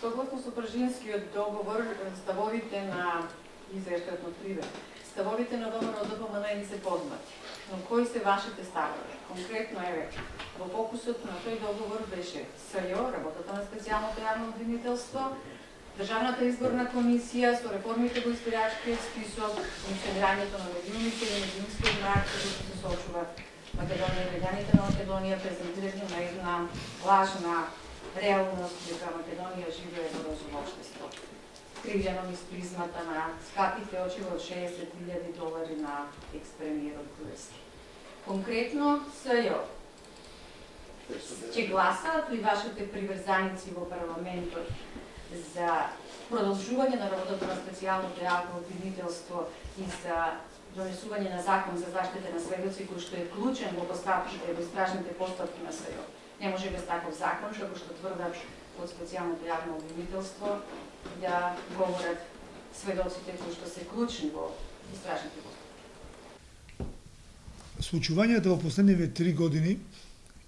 Согласно со Пржинскиот договор, ставовите на изештатно привед, ставовите на договорот ДПМН ни се познати. Но кои се вашите ставови? Конкретно еве, во фокусот на тој договор беше СЈО, работата на специјалното јавно обвинителство, Државната изборна комисија со реформите во избирачкиот список, функционирањето на медиумите и медиумскиот мрак, кој се соочуваат Македонија и граѓаните на Македонија, презентирање на една лажна реалност дека Македонија живее во розово општество. Кривljeno низ призмата на скапите очи од $60,000 на екс-премиерот Груевски. Конкретно СЈО ќе гласаат ли вашите приврзаници во парламентот за продолжување на работата на специјалното јавно обвинителство и за донесување на закон за заштита на сведоци, кој што е клучен во постапките и во истражните постапки на СЈО. Не може без таков закон, како што тврдат од специјалното јавно обвинителство, да говорат сведоците кои што се клучни во истражните постапки. Случувањата во последниве 3 години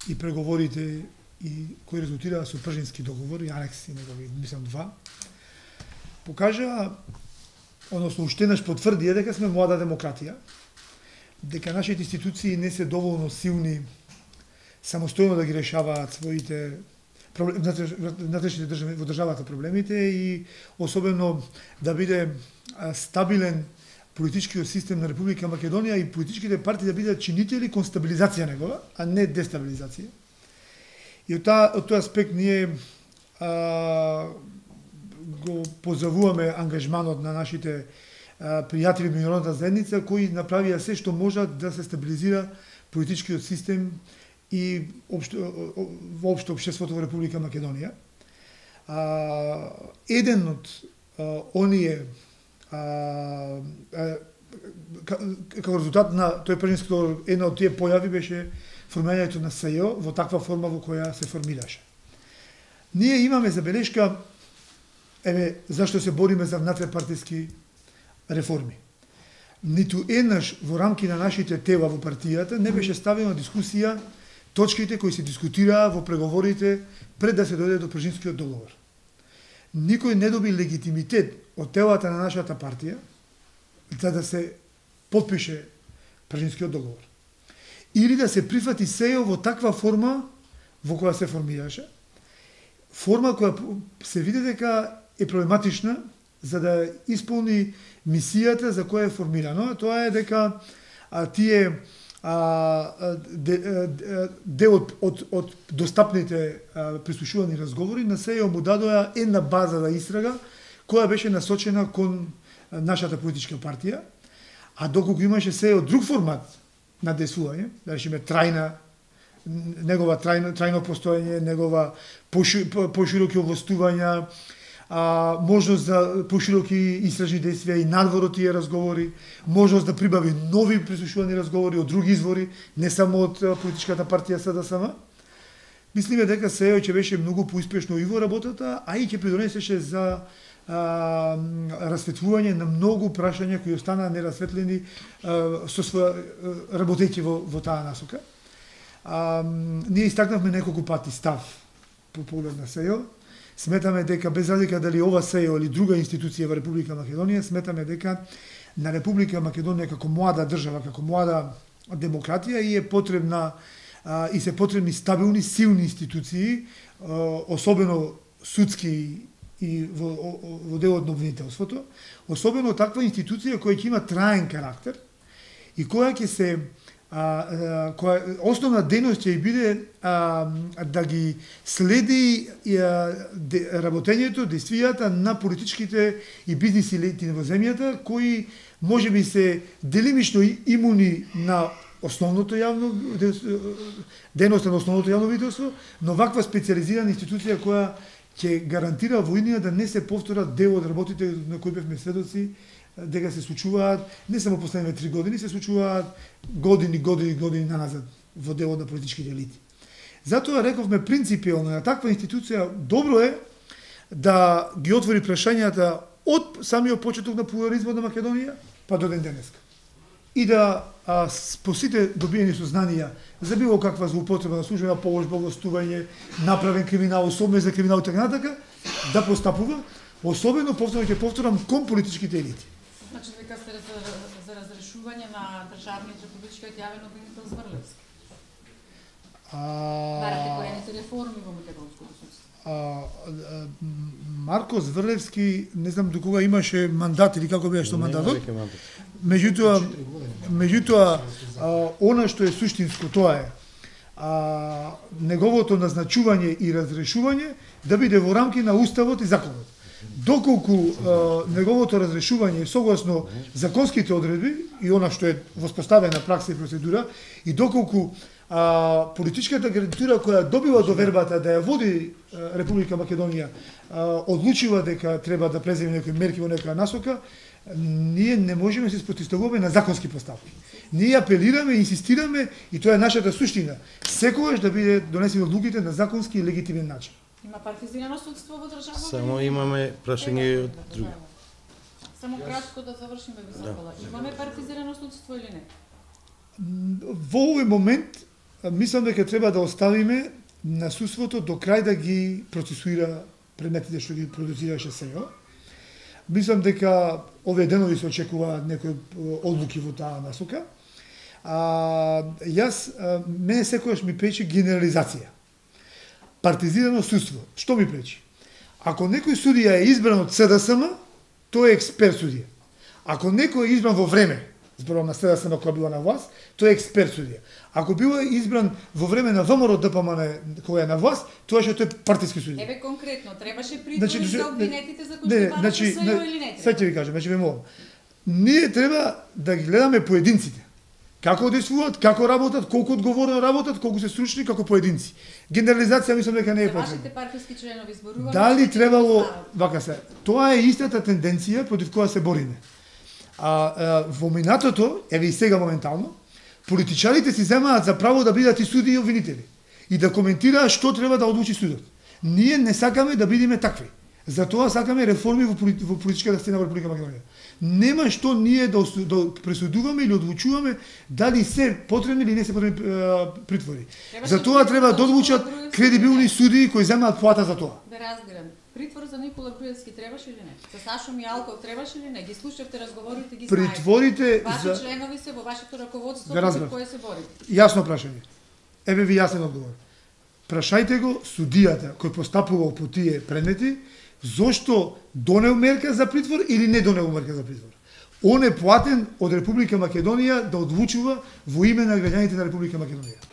и преговорите и кои резултираа со Пржински договор и анекси негови, мислам 2, покажа, односно уште еднаш потврдија дека сме млада демократија, дека нашите институции не се доволно силни самостојно да ги решаваат своите внатрешните држави во државата проблемите и особено да биде стабилен политичкиот систем на Република Македонија и политичките партии да бидат чинители кон стабилизација негова, а не дестабилизација. И од тој аспект ние го позовуваме ангажманот на нашите пријатели меѓународната заедница кои направија се што можат да се стабилизира политичкиот систем и воопшто општеството во Република Македонија. Еден од оние како резултат на тој Пржински договор, една од тие појави беше формирањето на СЈО во таква форма во која се формираше. Ние имаме забелешка, зашто се бориме за внатре-партиски реформи. Ниту еднаш во рамки на нашите тела во партијата не беше ставено дискусија точките кои се дискутираа во преговорите пред да се дојде до Пржинскиот договор. Никој не доби легитимитет од телата на нашата партија за да се подпише Пржинскиот договор. Или да се прифати СЈО во таква форма во која се формираше, форма која се види дека е проблематична за да исполни мисијата за која е формирано, тоа е дека тие дел од достапните прислушувани разговори на СЈО му дадоа една база за истрага која беше насочена кон нашата политичка партија, а доколку имаше СЈО друг формат на действување, да речеме негова трајно постоење, негова пошироки овластувања, можност за пошироки истражни действија и надвор од тие разговори, можност да прибави нови прислушувани разговори од други извори, не само од политичката партија СДСМ. Мислиме дека СЈО ќе беше многу поуспешно и во работата, а и ќе придонесеше за расветлување на многу прашања кои останаа нерасветлени работејќи во таа насока. Ние истакнавме неколку пати став по поглед на СЈО. Сметаме дека без разлика дали ова СЈО или друга институција во Република Македонија, сметаме дека на Република Македонија како млада држава, како млада демократија и е потребна и се потребни стабилни, силни институции, особено судски и во делот на обвинителството, особено таква институција која ќе има траен карактер и која ќе се основна дејност ќе биде да ги следи работењето, действијата на политичките и бизнис елити во земјата, кои може би се делимично имуни на основното јавно дејноста на основното јавно обвинителство, но ваква специјализирана институција која ќе гарантира во иднина да не се повторат дел од работите на кои бевме сведоци, дека се случуваат не само последните 3 години, се случуваат години наназад во делот на политичките елити. Затоа рековме принципиално на таква институција добро е да ги отвори прашањата од самиот почеток на плурализмот на Македонија па до ден денеска. И да по сите добиени сознанија за било каква злоупотреба на службена положба, властување, направен криминал, особено за криминал и така натака, да постапува, особено повторно ќе повторам кон политичките елити. Значи дека сте за разрешување на државниот републичкиот јавен обвинител Зврлевски. Барате којаните реформи во македонското судство. Марко Зврлевски, не знам до кога имаше мандат или како беше мандатот. Меѓутоа, она што е суштинско тоа е неговото назначување и разрешување да биде во рамки на уставот и законот. Доколку неговото разрешување е согласно законските одредби и она што е воспоставена пракса и процедура, и доколку политичката гарнитура која добива довербата да ја води Република Македонија одлучува дека треба да преземе некои мерки во некоја насока, ние не можеме да се спротивставуваме на законски поставки. Ние апелираме, инсистираме и тоа е нашата суштина. Секогаш да биде донесени одлуките на законски и легитимен начин. Има партизирано судство во државата? Само имаме прашање од други. Само кратко да завршиме високола. Имаме партизирано судство или не? Во овој момент мислам дека треба да оставиме на судството до крај да ги процесуира предметите што ги продуцираше СЕО. Мислам дека овие денови се очекува некои одлуки во таа насока. Мене секогаш ми пречи генерализација. Партизирано судство. Што ми пречи? Ако некој судија е избран од СДСМ, тој е експерт судија. Ако некој е избран во време, зборувам на СДСМ која била на власт, тој е експерт судија. Ако бил избран во време на ВМРО ДПМН која е на власт, тоа што тој е партиски судија. Еве конкретно, требаше притвор за обвинетите за кои што барате СЕО или не треба? Сега ќе ви кажам, ве молам. Ние треба да ги гледаме поединците. Како действуваат, како работат, колку одговорно работат, колку се стручни како поединци. Генерализација мислам дека не е потребна. Вашите партиски членови зборуваме. Дали требало, вака се, тоа е истата тенденција против која се бориме. Во минатото, еве и сега моментално, политичарите си земаат за право да бидат и суди и обвинители и да коментираат што треба да одлучи судот. Ние не сакаме да бидеме такви. Затоа сакаме реформи во политичката сцена во Република Македонија. Нема што ние да пресудуваме или одлучуваме дали се потребни или не се потребни притвори. Затоа треба да одлучат кредибилни судии кои земаат плата за тоа. Да разберам. Притвор за Никола Груевски требаше или не? За Сашо Мијалков требаше или не? Ги слушавте разговорите, ги знаете. Притворите Ваши членови се во вашето раководство против кое се борите. Јасно прашање. Еве ви јасен одговор. Прашајте го судијата кој постапувал по тие предмети, зошто донел мерка за притвор или не донел мерка за притвор. Он е платен од Република Македонија да одлучува во име на граѓаните на Република Македонија.